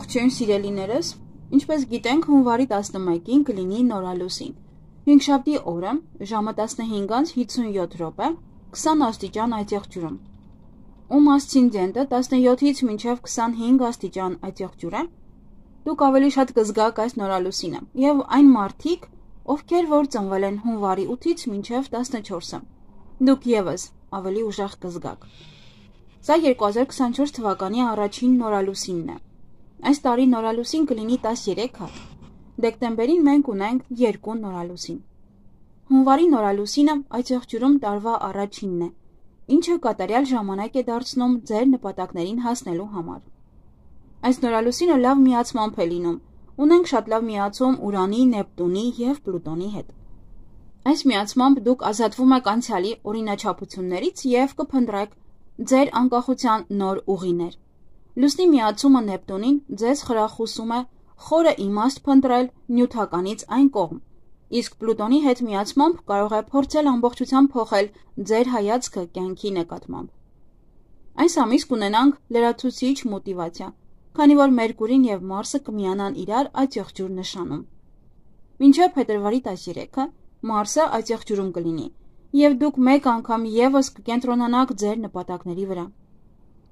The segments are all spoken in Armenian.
Ողջույն սիրելիներս, ինչպես գիտենք, հունվարի 11-ին կլինի նորալուսին։ Հինգշաբթի օրը ժամը 15:57 20 աստիճան այծեղջյուրում։ Ում ասցենդենտը 17-ից մինչև 25 աստիճան այծեղջյուր է, դուք ավելի շատ կզգաք այս նորալուսինը, եւ այն մարդիկ, ովքեր որ ծնվել են հունվարի 8-ից մինչև 14-ը, դուք եւս ավելի ուժեղ կզգաք։ Սա 2024 թվականի առաջին նորալուսինն է։ Այս տարի նորալուսին կլինի 13 հատ։ Դեկտեմբերին մենք ունենք 2 նորալուսին։ Հունվարի նորալուսինը այծեղջյուրում տարվա առաջինն է, ինչը կատարյալ ժամանակ է դարձնում ձեր նպատակներին հասնելու համար։ Այս նորալուսինը լավ միացմամբ է լինում։ Ունենք շատ լավ միացում Ուրանի, Նեպտունի եւ Պլուտոնի հետ։ Այս միացմամբ դուք ազատվում եք անցյալի օրինաչափություններից եւ կփնտրեք ձեր անկախության նոր ուղիներ։ Լուսնի միացումը Նեպտունին ձեզ խրախուսում է խորը իմաստ փնտրել նյութականից այն կողմ, իսկ Պլուտոնի հետ միացմամբ կարող է փորձել ամբողջությամբ փոխել ձեր հայացքը կյանքի նկատմամբ։ Այս ամիս կունենանք լրացուցիչ մոտիվացիա, քանի որ Մերկուրին եւ Մարսը կմիանան իրար այծեղջյուր նշանում։ Մինչև փետրվարի 13-ը Մարսը այծեղջյուրում կլինի, եւ դուք մեկ անգամ եւս կկենտրոնանաք ձեր նպատակների վրա,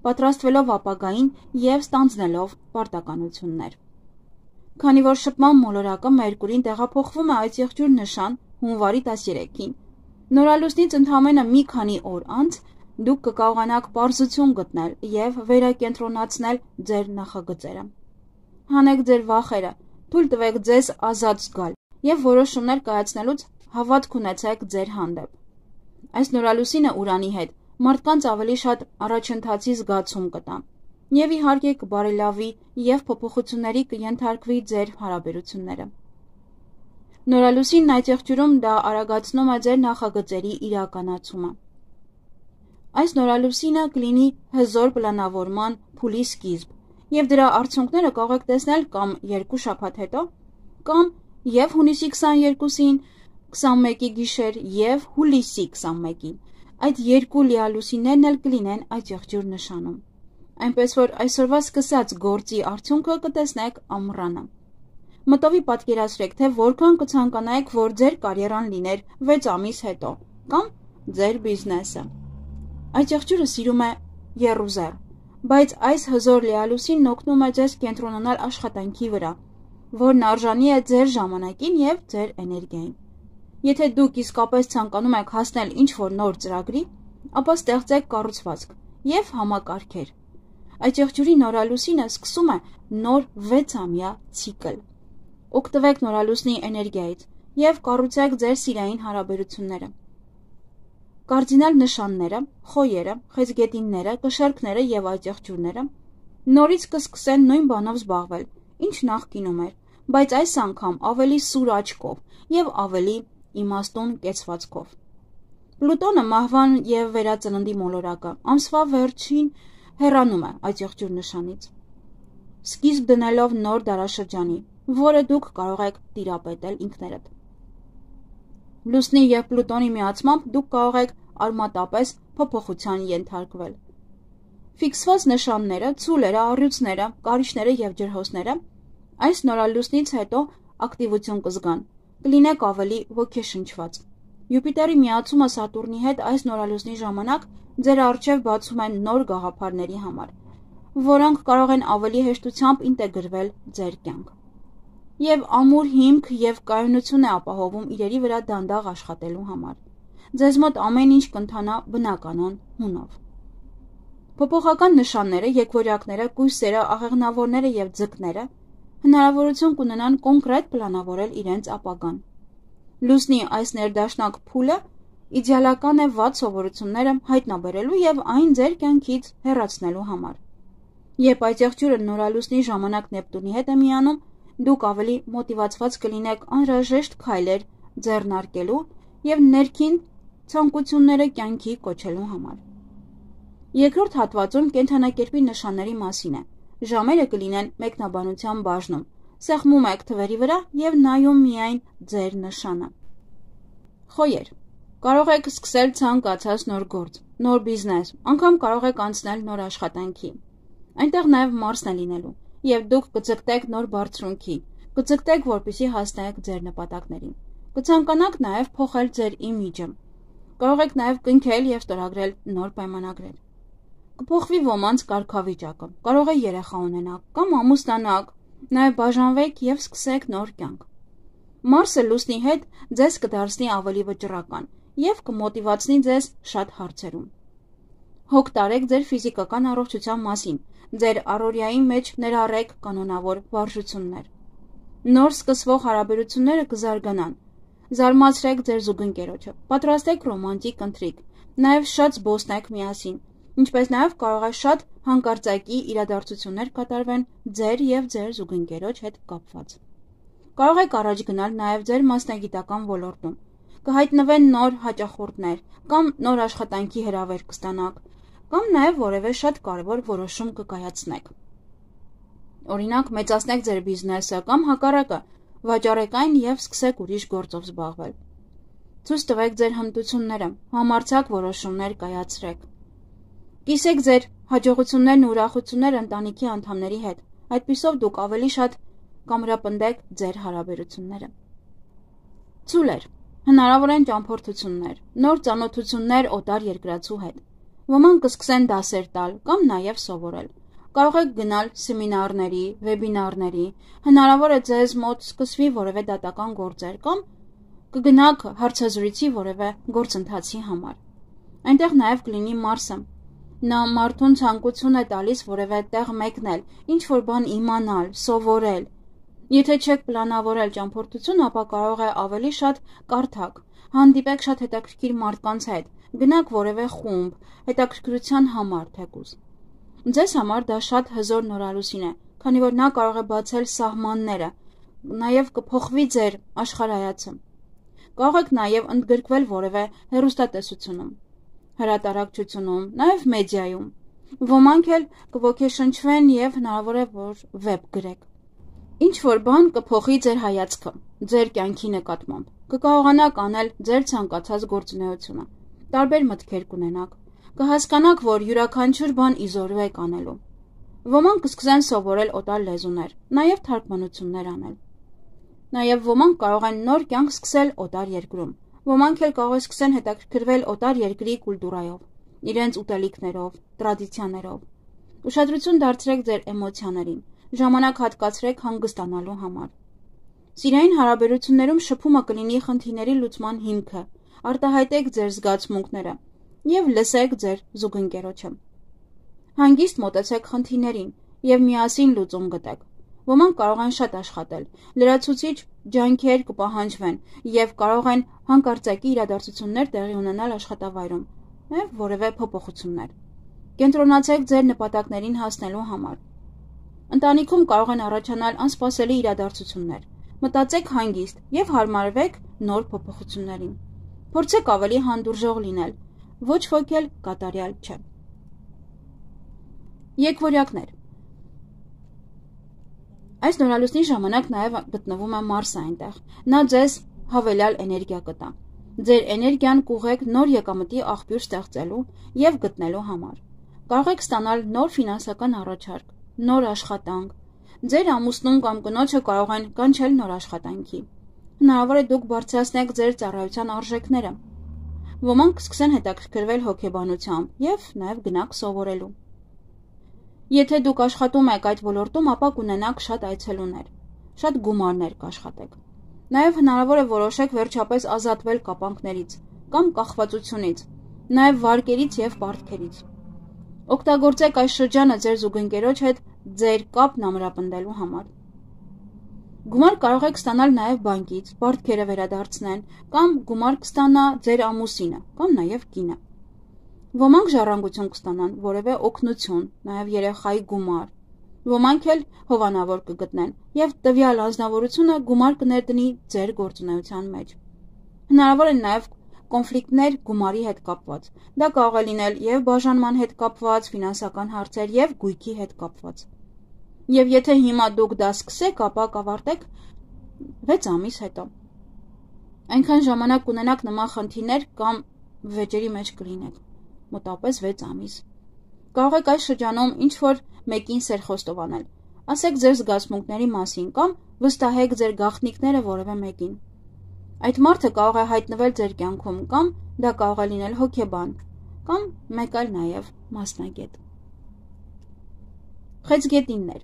պատրաստվելով ապագային եւ ստանձնելով պարտականություններ։ Քանի որ շփման մոլորակը Մերկուրին տեղափոխվում է այծեղջյուր նշան հունվարի 13-ին, նորալուսնից ընդամենը մի քանի օր անց դուք կկարողանաք պարզություն գտնել եւ վերակենտրոնացնել ձեր նախագծերը։ Հանեք ձեր վախերը, թույլ տվեք ձեզ ազատ զգալ եւ որոշումներ կայացնելուց հավատք ունեցեք ձեր հանդեպ։ Այս նորալուսինը Ուրանի հետ մարդկանց ավելի շատ առաջընթացի զգացում կտա եւ իհարկե կբարելավի եւ փոփոխությունների կենթարկվի ձեր հարաբերությունները։ Նորալուսինն այծեղջյուրում դա արագացնում է ձեր նախագծերի իրականացումը։ Այս նորալուսինը կլինի հզոր պլանավորման փուլի սկիզբ եւ դրա արդյունքները կարող եք տեսնել կամ 2 շաբաթ հետո, կամ եւ հունիսի 22-ին 21-ի գիշեր եւ հուլիսի 21-ին։ Այդ 2 լիալուսիններն էլ կլինեն այծեղջյուր նշանում։ Այնպես որ այսօրվա սկսած գործի արդյունքը կտեսնեք ամռանը։ Մտովի պատկերացրեք, թե որքան կցանկանայիք, որ ձեր կարիերան լիներ 6 ամիս հետո, կամ ձեր բիզնեսը։ Այծեղջյուրը սիրում է եռուզեռ, բայց այս հզոր լիալուսինն օգնում է ձեզ կենտրոնանալ աշխատանքի վրա, որն արժանի է ձեր ժամանակին եւ ձեր էներգիային։ Եթե դուք իսկապես ցանկանում եք հասնել ինչ-որ նոր ծրագրի, ապա ստեղծեք կառուցվածք եւ համակարգեր։ Այծեղջյուրի նորալուսինը սկսում է նոր 6-ամյա ցիկլ։ Օգտվեք նորալուսնի էներգիայից եւ կառուցեք ձեր սիրային հարաբերությունները։ Կարդինալ նշանները, խոյերը, խեցգետինները, կշեռքները եւ այծեղջյուրները նորից կսկսեն նույն բանով զբաղվել, ինչ նախկինում էր, բայց այս անգամ ավելի սուր աչքով եւ ավելի իմաստուն կեցվածքով։ Պլուտոնը մահվան եւ վերածննդի մոլորակը ամսվա վերջին հեռանում է այծեղջյուր նշանից, սկիզբ դնելով նոր դարաշրջանի, որը դուք կարող եք տիրապետել ինքներդ։ Լուսնի եւ Պլուտոնի միացմամբ դուք կարող եք արմատապես փոփոխության ենթարկվել։ Ֆիքսված նշանները, ցուլերը, առյուծները, կարիճները եւ ջրհոսները այս նորալուսնից հետո ակտիվություն կզգան, կլինեք ավելի ոգեշնչված։ Յուպիտերի միացումը Սատուրնի հետ այս նորալուսնի ժամանակ ձեր առջև բացում են նոր գաղափարների համար, որոնք կարող են ավելի հեշտությամբ ինտեգրվել ձեր կյանք։ Եվ ամուր հիմք եւ կայունություն է ապահովում իրերի վրա դանդաղ աշխատելու համար։ Ձեզ մոտ ամեն ինչ կընթանա բնականon հունով։ Փոփոխական նշանները, եկվորյակները, կույսերը, աղեղնավորները եւ ձկները հնարավորություն կունենան կոնկրետ պլանավորել իրենց ապագան։ Լուսնի այս ներդաշնակ փուլը իդեալական է վատ սովորությունները հայտնաբերելու եւ այն ձեր կյանքից հեռացնելու համար։ Երբ այծեղջյուրը նորալուսնի ժամանակ Նեպտունի հետ է միանում, դուք ավելի մոտիվացված կլինեք անհրաժեշտ քայլեր ձեռնարկելու եւ ներքին ցանկությունները կյանքի կոչելու համար։ Երկրորդ հատվածում կենդանակերպի նշանների մասին է։ Ժամերը կլինեն մեկնաբանության բաժնում։ Սեղմում եք թվերի վրա եւ նայում միայն ձեր նշանը։ Խոյեր։ Կարող եք սկսել ցանկացած նոր գործ, նոր բիզնես, անգամ կարող եք անցնել նոր աշխատանքի։ Այնտեղ նաեւ Մարսն է լինելու։ եւ դուք կձգտեք նոր բարձրունքի, կձգտեք, որպեսզի հասնեք ձեր նպատակներին։ Կցանկանաք նաեւ փոխել ձեր իմիջը։ Կարող եք նաեւ կնքել եւ ստորագրել նոր պայմանագրեր։ Կփոխվի ոմանց կարգավիճակը, կարող է երեխա ունենաք կամ ամուսնանաք, նաեւ բաժանվեք եւ սկսեք նոր կյանք։ Մարսը լուսնի հետ ձեզ կդարձնի ավելի վճռական եւ կմոտիվացնի ձեզ շատ հարցերում։ Հոգ տարեք ձեր ֆիզիկական առողջության մասին, ձեր առօրյայի մեջ ներառեք կանոնավոր վարժություններ։ Նոր սկսվող հարաբերությունները կզարգանան։ Զարմացրեք ձեր զուգընկերոջը, պատրաստեք ռոմանտիկ ընթրիք, նաեւ շատ զբոսնեք միասին, ինչպես նաեւ կարող է շատ հանկարծակի իրադարձություններ կատարվեն ձեր եւ ձեր զուգընկերոջ հետ կապված։ Կարող եք առաջ գնալ նաեւ ձեր մասնագիտական ոլորտում, կհայտնվեն նոր հաճախորդներ կամ նոր աշխատանքի հրավեր կստանաք, կամ նաեւ որևէ շատ կարևոր որոշում կկայացնեք։ Օրինակ, մեծացնեք ձեր բիզնեսը կամ հակառակը, վաճառեք այն եւ սկսեք ուրիշ գործով զբաղվել։ Ցույց տվեք ձեր հմտությունները, համարձակ որոշումներ կայացրեք։ Կիսեք ձեր հաջողություններն ու ուրախությունները ընտանիքի անդամների հետ, այդպիսով դուք ավելի շատ կամրապնդեք ձեր հարաբերությունները։ Ցուլեր, հնարավոր են ճամփորդություններ, նոր ծանոթություններ օտար երկրացու հետ։ Ոմանք կսկսեն դասեր տալ կամ նաեւ սովորել։ Կարող եք գնալ սեմինարների, վեբինարների, հնարավոր է ձեզ մոտ սկսվի որևէ դատական գործեր կամ կգնաք հարցազրույցի որևէ գործընթացի համար։ Այնտեղ նաև կլինի Մարսը։ Նա մարդուն ցանկություն է տալիս որևէ տեղ մեկնել, ինչ-որ բան իմանալ, սովորել։ Եթե չեք պլանավորել ճամփորդություն, ապա կարող է ավելի շատ կարդաք, հանդիպեք շատ հետաքրքիր մարդկանց հետ, գնաք որևէ խումբ, հետաքրքրության համար թեկուզ։ Ձեզ համար դա շատ հզոր նորալուսին է, քանի որ նա կարող է բացել սահմանները, նաև կփոխվի ձեր աշխարհայացը։ Կարող եք նաև ընդգրկվել որևէ հեռուստատեսությունում, հրատարակչությունում, նաև մեդիայում։ Ոմանք էլ կոգեշնչվեն եւ հնարավոր է որ վեբ գրեք։ Ինչ որ բան կփոխի ձեր հայացքը, ձեր կյանքի նկատմամբ։ Կկարողանաք անել ձեր ցանկացած գործունեությունը։ Տարբեր մտքեր կունենաք։ Կհասկանաք, որ յուրաքանչյուր բան իզորու եք անելու։ Ոմանք կսկսեն սովորել օտար լեզուներ, նաև թարգմանություններ անել։ Նաև ոմանք կարող են նոր կյանք սկսել օտար երկրում։ Ոմանք էլ կարող են սկսեն հետաքրքրվել օտար երկրի կուլտուրայով, իրենց ուտելիքներով, տրադիցիաներով։ Ուշադրություն դարձրեք ձեր էմոցիաներին, ժամանակ հատկացրեք հանգստանալու համար։ Սիրային հարաբերություններում շփումը կլինի խնդիրների լուծման հիմքը, արտահայտեք ձեր զգացմունքները եւ լսեք ձեր զուգընկերոջը։ Հանգիստ մոտեցեք խնդիրներին եւ միասին լուծում գտեք։ Ոմանք կարող են շատ աշխատել, լրացուցիչ ջանքեր կպահանջվեն եւ կարող են հանկարծակի իրադարձություններ տեղի ունենալ աշխատավայրում, նաեւ որևէ փոփոխություններ։ Կենտրոնացեք ձեր նպատակներին հասնելու համար։ Ընտանիքում կարող են առաջանալ անսպասելի իրադարձություններ։ Մտածեք հանգիստ եւ հարմարվեք նոր փոփոխություններին։ Փորձեք ավելի հանդուրժող լինել, ոչ ոք էլ կատարյալ չէ։ Եկվորյակներ։ Այս նորալուսնի ժամանակ նաև գտնվում է Մարսը այնտեղ։ Նա ձեզ հավելյալ էներգիա կտա։ Ձեր էներգիան կուղեք նոր եկամտի աղբյուր ստեղծելու եւ գտնելու համար։ Կարող եք ստանալ նոր ֆինանսական առաջարկ, նոր աշխատանք։ Ձեր ամուսնուն կամ կնոջը կարող են կանչել նոր աշխատանքի։ Հնարավոր է դուք բարձրացնեք ձեր ծառայության արժեքները։ Ոմանք կսկսեն հետաքրքրվել հոգեբանությամբ եւ նաեւ գնաք սովորելու։ Եթե դուք աշխատում եք այդ ոլորտում, ապա կունենաք շատ այցելուներ, շատ գումարներ կաշխատեք։ Նաև հնարավոր է որոշեք վերջապես ազատվել կապանքներից կամ կախվածությունից, նաև վարկերից եւ պարտքերից։ Օգտագործեք այս շրջանը ձեր զուգընկերոջ հետ ձեր կապն ամրապնդելու համար։ Գումար կարող եք ստանալ նաև բանկից, պարտքերը վերադարձնեն, կամ գումար կստանա ձեր ամուսինը, կամ նաև կինը։ Ոմանք ժառանգություն կստանան, որևէ օգնություն, նաև երեխայի գումար։ Ոմանք էլ հովանավոր կգտնեն եւ տվյալ անձնավորությունը գումար կներդնի ձեր գործունեության մեջ։ Հնարավոր են նաև կոնֆլիկտներ գումարի հետ կապված։ Դա կարող է լինել եւ բաժանման հետ կապված, ֆինանսական հարցեր եւ գույքի հետ կապված։ Եվ եթե հիմա դուք դա սկսեք, ապա կավարտեք 6 ամիս հետո։ Այնքան ժամանակ կունենաք նման խնդիրներ կամ վեճերի մեջ կլինեք, մոտավորապես 6 ամիս։ Կարող եք այս շրջանում ինչ-որ մեկին սերխոստով անել, Ասեք ձեր զգացմունքների մասին կամ վստահեք ձեր գաղտնիքները որևէ մեկին։ Այդ մարդը կարող է հայտնվել ձեր կյանքում կամ դա կարող է լինել հոգեբան կամ մեկ այլ նաև մասնագետ։ Խեցգետիններ։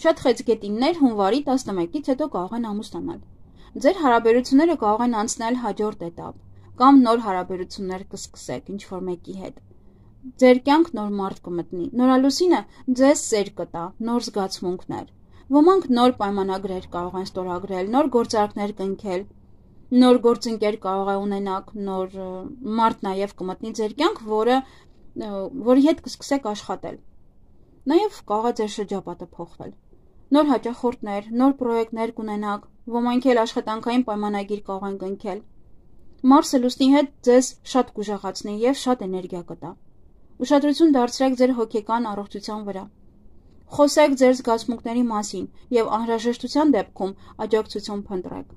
Շատ խեցգետիններ հունվարի 11-ից հետո կարող են ամուսնանալ։ Ձեր հարաբերությունները կարող են անցնել հաջորդ էտապ կամ նոր հարաբերություններ կսկսեք ինչ-որ մեկի հետ։ Ձեր կյանք նոր մարդ կմտնի։ Նորալուսինը ձեզ սեր կտա, նոր զգացմունքներ։ Ոմանք նոր պայմանագրեր կարող են ստորագրել, նոր գործարքներ կնքել, նոր գործընկեր կարող է ունենաք, նոր մարդ նաև կմտնի ձեր կյանք, որի հետ կսկսեք աշխատել։ Նաև կարող է ձեր շրջապատը փոխվել։ Նոր հաճախորդներ, նոր պրոյեկտներ կունենաք, ոմանք էլ աշխատանքային պայմանագիր կարող են կնքել։ Մարսը լուսնի հետ ձեզ շատ կուժեղացնի եւ շատ էներգիա կտա։ Ուշադրություն դարձրեք ձեր հոգեկան առողջության վրա։ Խոսեք ձեր զգացմունքների մասին եւ անհրաժեշտության դեպքում աջակցություն փնտրեք։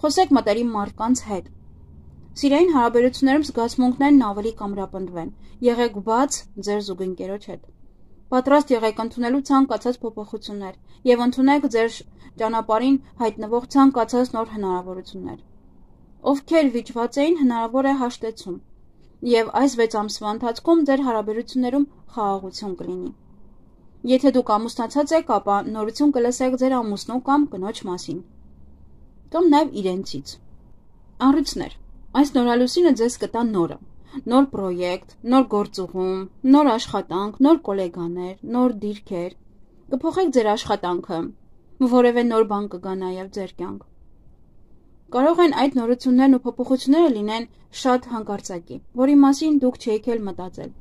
Խոսեք մտերիմ մարդկանց հետ։ Սիրային հարաբերություններում զգացմունքներն ավելի կամրապնդվեն։ Եղեք բաց ձեր զուգընկերոջ հետ։ Պատրաստ եղեք ընդունելու ցանկացած փոփոխություններ եւ ընդունեք ձեր ճանապարհին հայտնվող ցանկացած նոր հնարավորություններ։ Ովքեր վիճված էին, հնարավոր է հաշտեցում, եւ այս 6 ամսվա ընթացքում ձեր հարաբերություններում խաղաղություն կլինի։ Եթե դուք ամուսնացած եք, ապա նորություն կլսեք ձեր ամուսնու կամ կնոջ մասին, կամ նաեւ իրենցից։ Առույցներ։ Այս նորալուսինը ձեզ կտա նորը, նոր պրոյեկտ, նոր գործուղում, նոր աշխատանք, նոր գոլեգաներ, նոր դիրքեր։ Կփոխեք ձեր աշխատանքը, որևէ նոր բան կգա նաեւ ձեր կյանք։ Կարող են այդ նորություններն ու փոփոխությունները լինեն շատ հանկարծակի, որի մասին դուք չեք էլ մտածել։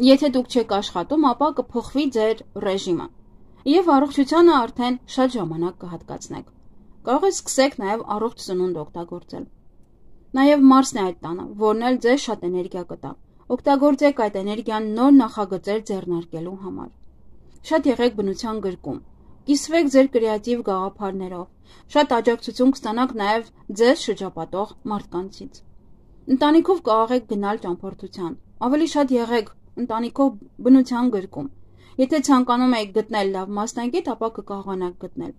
Եթե դուք չեք աշխատում, ապա կփոխվի ձեր ռեժիմը, եւ առողջությանը արդեն շատ ժամանակ կհատկացնեք։ Կարող եք սկսեք նաեւ առողջ սնունդ օգտագործել։ Նաեւ Մարսն է այդ տանը, որն էլ ձեզ շատ էներգիա կտա։ Օգտագործեք այդ էներգիան նոր նախագծեր ձեռնարկելու համար։ Շատ եղեք բնության գրկում։ Կիսվեք ձեր կրեատիվ գաղափարներով։ Շատ աջակցություն կստանաք նաև ձեզ շրջապատող մարդկանցից։ Ընտանիքով կարող եք գնալ ճամփորդության։ Ավելի շատ եղեք ընտանիքով բնության գրկում։ Եթե ցանկանում եք գտնել լավ մասնագետ, ապա կկարողանաք գտնել։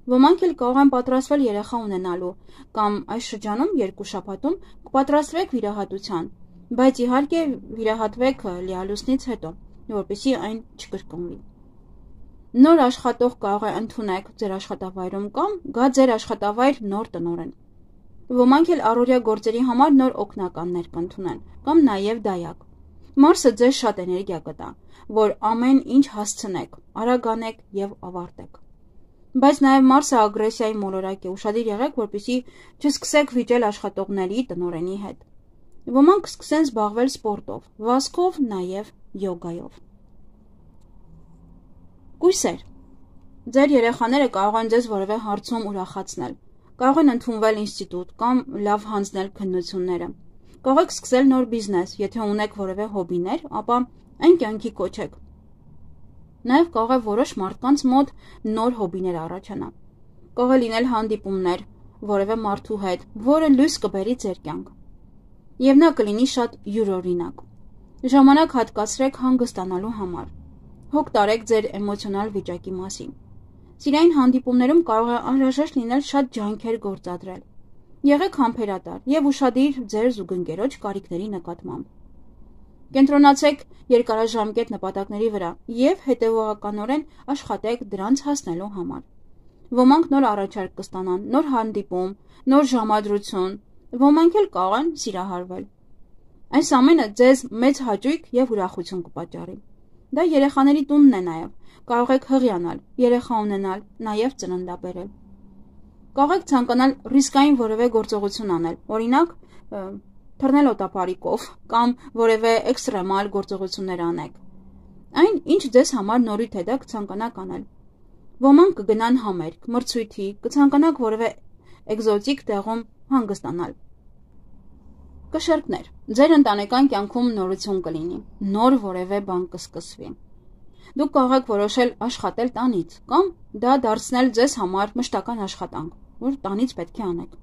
Ոմանք էլ կարող են պատրաստվել երեխա ունենալու կամ այս շրջանում 2 շաբաթում կպատրաստվեք վիրահատության, բայց իհարկե վիրահատվեք լիալուսնից հետո, որպեսզի այն չկրկնվի։ Նոր աշխատող կարող է ընդունեք ձեր աշխատավայրում կամ գա ձեր աշխատավայր նոր տնօրեն։ Ոմանք էլ առօրյա գործերի համար նոր օգնականներ կընդունեն կամ նաև դայակ։ Մարսը ձեզ շատ էներգիա կտա, որ ամեն ինչ հասցնեք, արագանեք եւ ավարտեք։ Բայց նաև Մարսը ագրեսիայի մոլորակ է, ուշադիր եղեք, որպեսզի չսկսեք վիճել աշխատողների տնօրենի հետ։ Ոմանք կսկսեն զբաղվել սպորտով, վազքով, նաև յոգայով։ Կույսեր։ Ձեր երեխաները կարող են ձեզ որևէ հարցում ուրախացնել, կարող են ընդունվել ինստիտուտ կամ լավ հանձնել քննությունները։ Կարող եք սկսել նոր բիզնես, եթե ունեք որևէ հոբիներ, ապա այն կյանքի կոչեք։ Նաև կարող է որոշ մարդկանց մոտ նոր հոբիներ առաջանա։ Կարող է լինել հանդիպումներ որևէ մարդու հետ, որը լույս կբերի ձեր կյանք։ Եվ նա կլինի շատ յուրօրինակ։ Ժամանակ հատկացրեք հանգստանալու համար։ Հոգ տարեք ձեր էմոցիոնալ վիճակի մասին։ Սիրային հանդիպումներում կարող է անհրաժեշտ լինել շատ ջանքեր գործադրել։ Եղեք համբերատար եւ ուշադիր ձեր զուգընկերոջ կարիքների նկատմամբ։ Կենտրոնացեք երկարաժամկետ նպատակների վրա եւ հետեւողականորեն աշխատեք դրանց հասնելու համար։ Ոմանք նոր առաջարկ կստանան, նոր հանդիպում, նոր ժամադրություն, ոմանք էլ կարող են սիրահարվել։ Այս ամենը ձեզ մեծ հաճույք եւ ուրախություն կպատճառի։ Դա երեխաների տունն է նաև։ Կարող եք հղիանալ, երեխա ունենալ, նաև ծննդաբերել։ Կարող եք ցանկանալ ռիսկային որևէ գործողություն անել, օրինակ թռնել օտապարիկով կամ որևէ էքստրեմալ գործողություններ անեք։ Այն, ինչ ձեզ համար նորույթ է, դա կցանկանաք անել։ Ոմանք կգնան համերգ, մրցույթի, կցանկանաք որևէ էկզոտիկ տեղում հանգստանալ։ Կշեռքներ։ Ձեր ընտանեկան կյանքում նորություն կլինի, նոր որևէ բան կսկսվի։ Դուք կարող եք որոշել աշխատել տանից կամ դա դարձնել ձեզ համար մշտական աշխատանք, որ տանից պետք է անեք։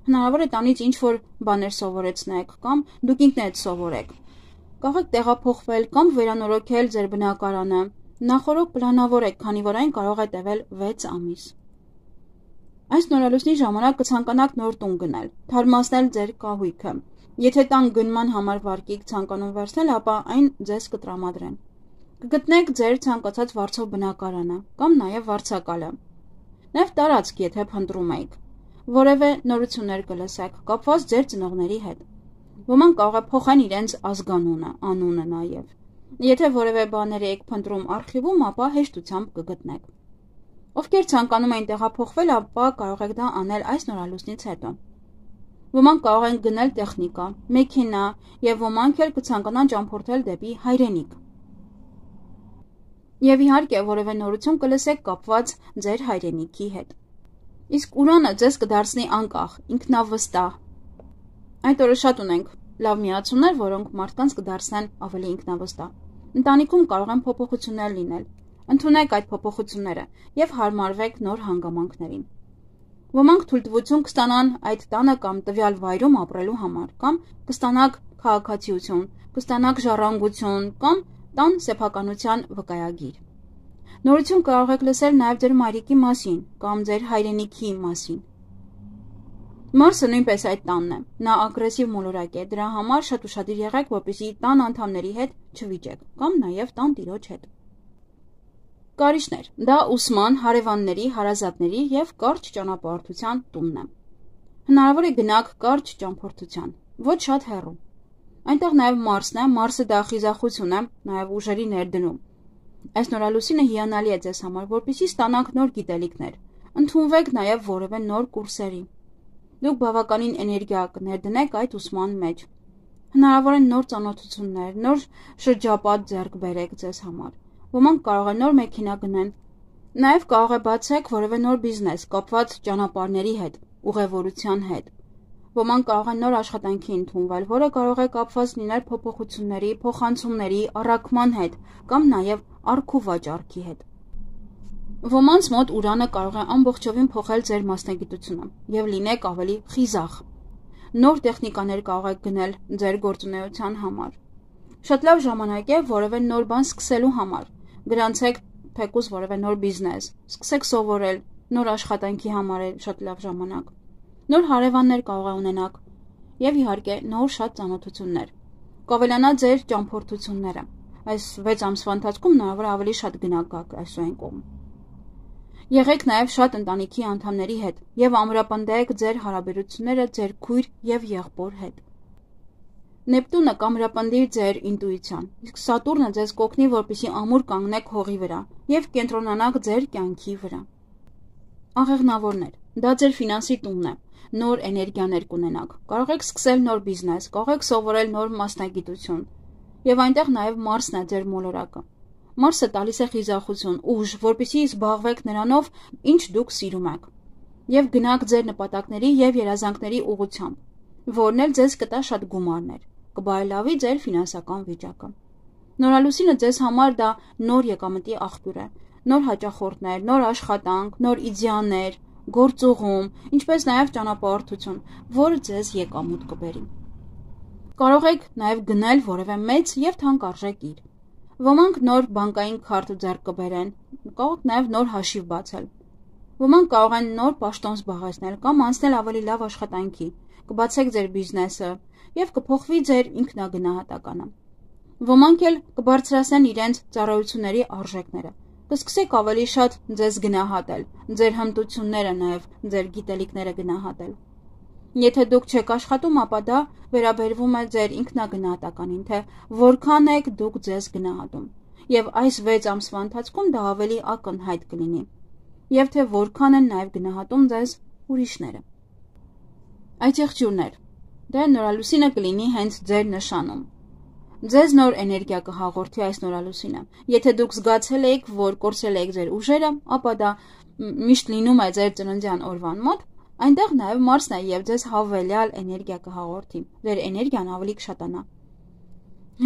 Հնարավոր է տանից ինչ-որ բաներ սովորեցնեք կամ դուք ինքներդ սովորեք։ Կարող եք տեղափոխվել կամ վերանորոգել ձեր բնակարանը Նախորդ պլանավորեք, քանի որ այն կարող է տևել 6 ամիս։ Այս նորալուսնի ժամանակ կցանկանաք նոր տուն գնել, թարմացնել ձեր կահույքը։ Եթե տան գնման համար վարկիք ցանկանում վերցնել, ապա այն ձեզ կտրամադրեն։ Կգտնեք ձեր ցանկացած վարձով բնակարանը կամ նաև վարձակալը։ Նաև տարածք, եթե փնտրում եք։ Որևէ նորություններ կլսեք, կապված ձեր ծնողների հետ։ Ոմանք կարող է փոխեն իրենց ազգանունը, անունը նաև։ Եթե որևէ բաներ եք փնտրում արխիվում, ապա հեշտությամբ կգտնեք։ Ովքեր ցանկանում են տեղափոխվել, ապա կարող եք դա անել այս նորալուսնից հետո։ Ոմանք կարող են գնել տեխնիկա, մեքենա եւ ոմանք էլ կցանկանան ճամփորդել դեպի հայրենիք։ Եվ իհարկե որևէ նորություն կլսեք կապված ձեր հայրենիքի հետ։ Իսկ Ուրանը ձեզ կդարձնի անկախ, ինքնավստահ։ Այդ օրը շատ ունենք լավ միացումներ, որոնք մարդկանց կդարձնեն ավելի ինքնավստահ։ Ընտանիքում կարող են փոփոխություններ լինել։ Ընդունեք այդ փոփոխությունները եւ հարմարվեք նոր հանգամանքներին։ Ոմանք թույլտվություն կստանան այդ տանը կամ տվյալ վայրում ապրելու համար, կամ կստանաք քաղաքացիություն, կստանաք ժառանգություն կամ տան սեփականության վկայագիր։ Նորություն կարող եք լսել նաև ձեր մայրիկի մասին կամ ձեր հայրենիքի մասին։ Մարսը նույնպես այդ տանն է։ Նա ագրեսիվ մոլորակ է, դրա համար շատ ուշադիր եղեք, որպեսզի տան անդամների հետ չվիճեք կամ նաև տան տիրոջ հետ։ Կարիճներ՝ դա ուսման, հարևանների, հարազատների եւ կարճ ճանապարհորդության տունն է։ Հնարավոր է գնաք կարճ ճամփորդության, ոչ շատ հեռու։ Այնտեղ նաև Մարսն է, Մարսը դա խիզախություն է, նաև ուժերի ներդնում։ Այս նորալուսինը հիանալի է ձեզ համար, որպեսզի ստանաք նոր գիտելիքներ։ Ընդունվեք նաև որևէ նոր կուրսերի։ Դուք բավականին էներգիա կներդնեք այդ ուսման մեջ։ Հնարավոր են նոր ծանոթություններ, նոր շրջապատ ձեռք բերեք ձեզ համար։ Ոմանք կարող են նոր մեքենա գնեն։ Նաև կարող է բացեք որևէ նոր բիզնես կապված ճանապարհների հետ, ուղևորության հետ։ Ոմանք կարող են նոր աշխատանքի ընդունվել, որը կարող է կապված լինել փոփոխությունների, փոխանցումների, առաքման հետ կամ նաև առք ու վաճառքի հետ։ Ոմանց մոտ Ուրանը կարող է ամբողջովին փոխել ձեր մասնագիտությունը եւ լինեք ավելի խիզախ։ Նոր տեխնիկաներ կարող եք գնել ձեր գործունեության համար։ Շատ լավ ժամանակ է որևէ նոր բան սկսելու համար։ Գրանցեք թեկուզ որևէ նոր բիզնես, սկսեք սովորել, նոր աշխատանքի համար է շատ լավ ժամանակ։ Նոր հարևաններ կարող է ունենաք եւ իհարկե նոր շատ ծանոթություններ։ Կավելանա ձեր ճամփորդությունները։ Այս 6 ամսվա ընթացքում հնարավոր է ավելի շատ գնաք գաք այսօրին կողմ։ Եղեք նաև շատ ընտանիքի անդամների հետ եւ ամրապնդեք ձեր հարաբերությունները ձեր քույր եւ եղբոր հետ։ Նեպտունը կամրապնդի ձեր ինտուիցիան, իսկ Սատուրնը ձեզ կօգնի, որպեսզի ամուր կանգնեք հողի վրա եւ կենտրոնանաք ձեր կյանքի վրա։ Աղեղնավորներ, դա ձեր ֆինանսի տունն է, նոր էներգիաներ կունենաք, կարող եք սկսել նոր բիզնես, կարող եք սովորել նոր մասնագիտություն եւ այնտեղ նաև Մարսն է ձեր մոլորակը։ Մարսը տալիս է խիզախություն, ուժ, որպեսզի զբաղվեք նրանով, ինչ դուք սիրում եք, եւ գնաք ձեր նպատակների եւ երազանքների ուղղությամբ, որն էլ ձեզ կտա շատ գումարներ, կբարելավի ձեր ֆինանսական վիճակը։ Նորալուսինը ձեզ համար դա նոր եկամտի աղբյուր է, նոր հաճախորդներ, նոր աշխատանք, նոր իդեաներ, գործուղում, ինչպես նաև ճանապարհորդություն, որը ձեզ եկամուտ կբերի։ Կարող եք նաև գնել որևէ մեծ եւ թանկարժեք իր։ Ոմանք նոր բանկային քարտ ձեռք կբերեն, կարող եք նաև նոր հաշիվ բացել։ Ոմանք կարող են նոր պաշտոն զբաղեցնել կամ անցնել ավելի լավ աշխատանքի, կբացեք ձեր բիզնեսը եւ կփոխվի ձեր ինքնագնահատականը։ Ոմանք էլ կբարձրացնեն իրենց ծառայությունների արժեքները, կսկսեք ավելի շատ ձեզ գնահատել, ձեր հմտությունները նաև ձեր գիտելիքները գնահատել։ Եթե դուք չեք աշխատում, ապա դա վերաբերվում է ձեր ինքնագնահատականին, թե որքան եք դուք ձեզ գնահատում, եւ այս 6 ամսվա ընթացքում դա ավելի ակնհայտ կլինի, եւ թե որքան են նաև գնահատում ձեզ ուրիշները։ Այդ եղջյուրներ, դե նորալուսինը կլինի հենց ձեր նշանում։ Ձեզ նոր էներգիա կհաղորդի այս նորալուսինը։ Եթե դուք զգացել եք, որ կորցրել եք ձեր ուժերը, ապա դա միշտ լինում է ձեր ծննդյան օրվան մոտ, այնտեղ նաև Մարսն է եւ ձեզ հավելյալ էներգիա կհաղորդի։ Ձեր էներգիան ավելի կշատանա։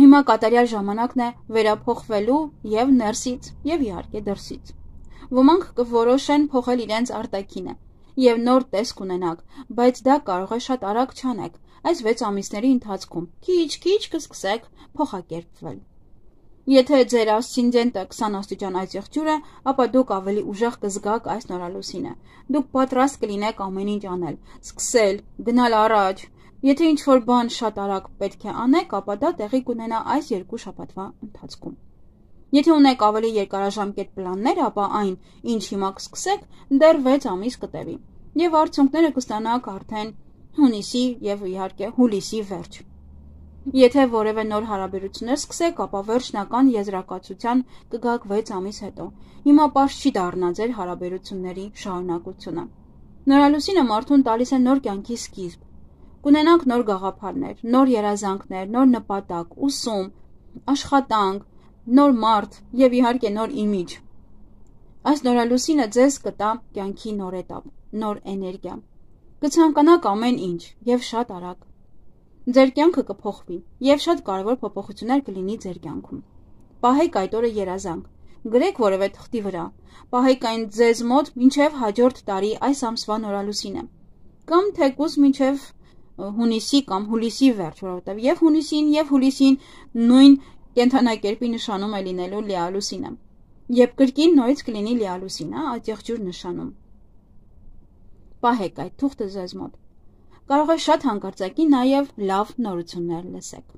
Հիմա կատարյալ ժամանակն է վերափոխվելու եւ ներսից եւ իհարկե դրսից։ Ոմանք կորոշեն փոխել իրենց արտաքինը եւ նոր տեսք ունենաք, բայց դա կարող է շատ արագ չանեք։ Այս 6 ամիսների ընթացքում քիչ-քիչ կսկսեք փոխակերպվել։ Եթե ձեր ասցենդենտը 20 աստիճան այս եղջյուր է, ապա դուք ավելի ուժեղ կզգաք այս նորալուսինը։ Դուք պատրաստ կլինեք ամեն ինչ անել, սկսել, գնալ առաջ։ Եթե ինչ-որ բան շատ արագ պետք է անեք, ապա դա տեղի կունենա այս 2 շաբաթվա ընթացքում։ Եթե ունեք ավելի երկարաժամկետ պլաններ, ապա այն, ինչ հիմա կսկսեք, դեռ 6 ամիս կտևի, եւ արդյունքները կստանաք արդեն հունիսի եւ իհարկե հուլիսի վերջ։ Եթե որևէ նոր հարաբերություններ սկսեք, ապա վերջնական եզրակացության կգաք 6 ամիս հետո։ Հիմա պարզ չի դառնա ձեր հարաբերությունների շարունակությունը։ Նորալուսինը մարդուն տալիս է նոր կյանքի սկիզբ։ Կունենաք նոր գաղափարներ, նոր երազանքներ, նոր նպատակ, ուսում, աշխատանք, նոր մարդ եւ իհարկե նոր իմիջ։ Այս նորալուսինը ձեզ կտա կյանքի նոր էտապ, նոր էներգիա։ Կցանկանաք ամեն ինչ եւ շատ արագ։ Ձեր կյանքը կփոխվի եւ շատ կարևոր փոփոխություններ կլինի ձեր կյանքում։ Պահեք այդ օրը երազանք, գրեք որևէ թղթի վրա, պահեք այն ձեզ մոտ մինչեւ հաջորդ տարի այս ամսվա նորալուսինը, կամ թեկուզ մինչեւ հունիսի կամ հուլիսի վերջ, որովհետեւ եւ հունիսին եւ հուլիսին նույն կենթանակերպի նշանում է լինելու լիալուսինը։ Երբ կրկին նորից կլինի լիալուսինը, այդ եղջյուր նշանում։ Պահեք այդ թուղթը ձեզ մոտ։ Կարող է շատ հանկարծակի նաև լավ նորություններ լսեք։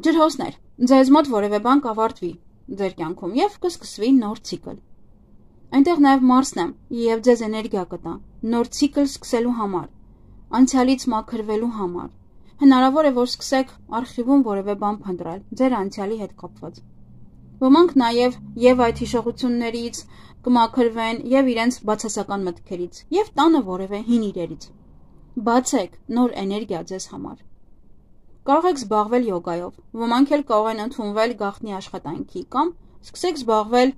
Ջրհոսներ, ձեզ մոտ որևէ բան կավարտվի ձեր կյանքում եւ կսկսվի նոր ցիկլ։ Այնտեղ նաև Մարսն է եւ ձեզ էներգիա կտա նոր ցիկլ սկսելու համար, անցյալից մաքրվելու համար։ Հնարավոր է, որ սկսեք արխիվում որևէ բան փնտրել ձեր անցյալի հետ կապված։ Ոմանք նաև եւ այդ հիշողություններից կմաքրվեն եւ իրենց բացասական մտքերից եւ տանը որևէ հին իրերից։ Բացեք նոր էներգիա ձեզ համար։ Կարող եք զբաղվել յոգայով, ոմանք էլ կարող են ընդունվել գաղտնի աշխատանքի կամ սկսեք զբաղվել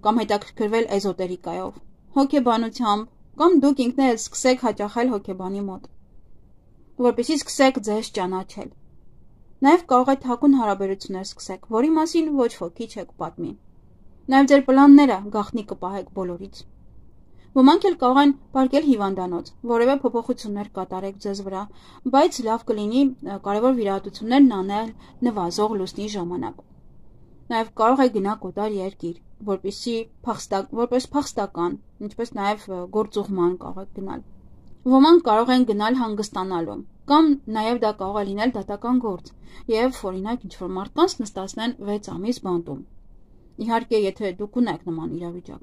կամ հետաքրքրվել էզոտերիկայով, հոգեբանությամբ կամ դուք ինքներդ սկսեք հաճախել հոգեբանի մոտ, որպեսզի սկսեք ձեզ ճանաչել։ Նաև կարող է թաքուն հարաբերություններ սկսեք, որի մասին ոչ ոքի չեք պատմի։ Նաև ձեր պլանները գաղտնի կպահեք բոլորից։ Ոմանք էլ կարող են պարկել հիվանդանոց, որևէ փոփոխություններ կատարեք ձեզ վրա, բայց լավ կլինի կարևոր վիրահատություններն անել նվազող լուսնի ժամանակ։ Նաև կարող է գնալ կոտար երկիր, որպես փախստական, ինչպես նաև գործուղման կարող եք գնալ։ Ոմանք կարող են գնալ հանգստանալու, կամ նաև դա կարող է լինել դատական գործ, եւ օրինակ ինչ-որ մարդկանց նստացնեն 6 ամիս բանտում։ Իհարկե, եթե դուք ունեք նման իրավիճակ։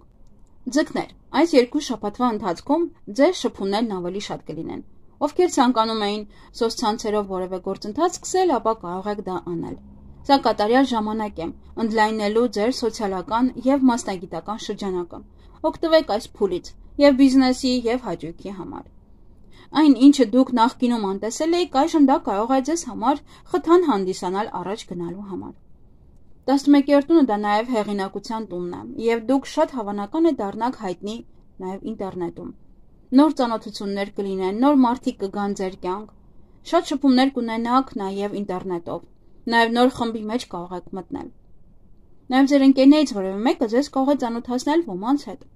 Ձկներ, այս 2 շաբաթվա ընթացքում ձեր շփումներն ավելի շատ կլինեն։ Ովքեր ցանկանում էին սոցցանցերով որևէ գործընթաց սկսել, ապա կարող եք դա անել։ Սա կատարյալ ժամանակ է ընդլայնելու ձեր սոցիալական եւ մասնագիտական շրջանակը։ Օգտվեք այս փուլից եւ բիզնեսի եւ հաճույքի համար։ Այն, ինչը դուք նախկինում անտեսել եք, այժմ դա կարող է ձեզ համար խթան հանդիսանալ առաջ գնալու համար։ 11-րդ տունը դա նաև հեղինակության տունն է, եւ դուք շատ հավանական է դառնաք հայտնի նաև ինտերնետում։ Նոր ծանոթություններ կլինեն, նոր մարդիկ կգան ձեր կյանք, շատ շփումներ կունենաք նաև ինտերնետով, նաև նոր խմբի մեջ կարող եք մտնել։ Նաև ձեր ընկերներից որևէ մեկը ձեզ կարող է ծանոթացնել ոմանց հետ։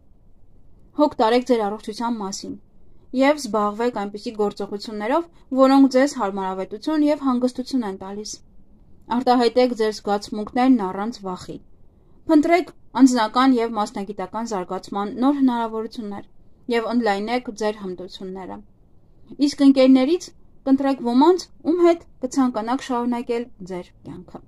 Հոգ տարեք ձեր առողջության մասին եւ զբաղվեք այնպիսի գործողություններով, որոնք ձեզ հարմարավետություն եւ հանգստություն են տալիս։ Արտահայտեք ձեր զգացմունքներն առանց վախի։ Փնտրեք անձնական եւ մասնագիտական զարգացման նոր հնարավորություններ եւ ընդլայնեք ձեր հմտությունները։ Իսկ ընկերներից կընտրեք ոմանց, ում հետ կցանկանաք շարունակել ձեր կյանքը։